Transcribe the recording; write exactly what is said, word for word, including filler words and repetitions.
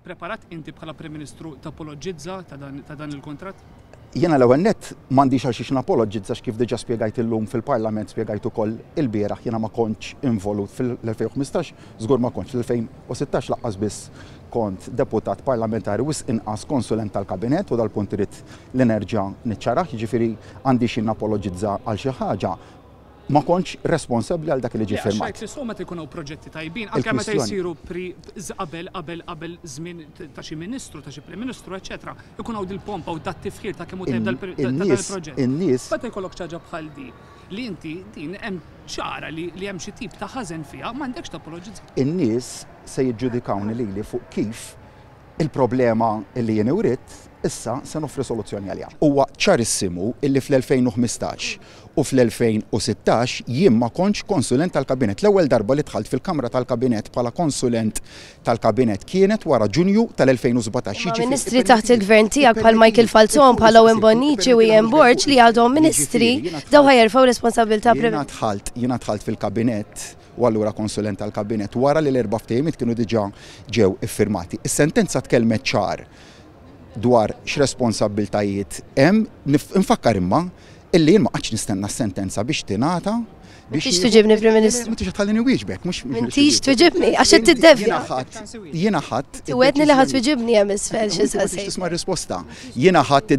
Preparat inti bħala Prim Ministru tapologizza ta' dan il-kuntratt? Jiena l-ewwel nett m'għandix għal xiex napologizza, kif diġà spjegajt illum fil-Parlament, spjegajt ukoll ilbieraħ, jiena ma kontx involut fil-elfejn u ħmistax, żgur ma kontx, fl-elfejn u sittax laqqas biss kont deputat parlamentari, wisq inqas konsulent tal-kabinett, u dal-punt irid li nerġa' niċċarah, jiġifieri għandi xi napologizza għal xi ħaġa. Ma kontx responsabbli għal dak li ġie Le, għax firmat. Rajt li so meta jkunu proġetti tajbin, anke meta Il-kwistjoni. jsiru pri qabel qabel qabel żmien ta' xi ministru, ta' xi prim ministru, eċetera, ikun hawn dil-pompa u dat tifħir ta' kemm hu tajjeb dal- ta' dan In-nies il-proġett. in-nies Meta jkollok ħaġa bħal di, li inti din hemm ċara li li hemm xi tip ta' ħażen fiha, m'għandekx tapologizza. In-nies se jiġġudikawni lili fuq kif il-problema li jien urid issa se noffri soluzzjoni għaliha. Huwa ċarissimu illi fl-elfejn u ħmistax u fl-elfejn u sittax jien ma kontx konsulent tal-kabinett. L-ewwel darba li dħalt fil-Kamra tal-Kabinett bħala konsulent tal-Kabinett kienet wara Ġunju tal-elfejn u sbatax. Ma ministri taħt il-gvern tiegħek bħal Michael Falzon, bħal Owen Bonnici u Ian Borg li għadhom ministri, daw ħa jerfgħu responsabilità. Jiena dħalt, jiena dħalt fil-kabinett u allura konsulent tal-kabinett wara li l-erba' ftehimiet kienu diġà ġew iffirmati. Is-sentenza tkellmet ċar dwar x'responsabbiltajiet hemm. Nif-, nfakkar imma illi jien ma qgħadx nistenna s-sentenza biex tingħata biex M'intix tuġibni, Prim Ministru. M'intix tħallini wieġbek, mhux M'intix tuġibni, għax qed tiddevja. Jiena ħadd, jiena ħadd Twedni li ħadd tuġibni hemm isfel xi Inti ma saqsejt. tisma' risposta. Jiena ħadd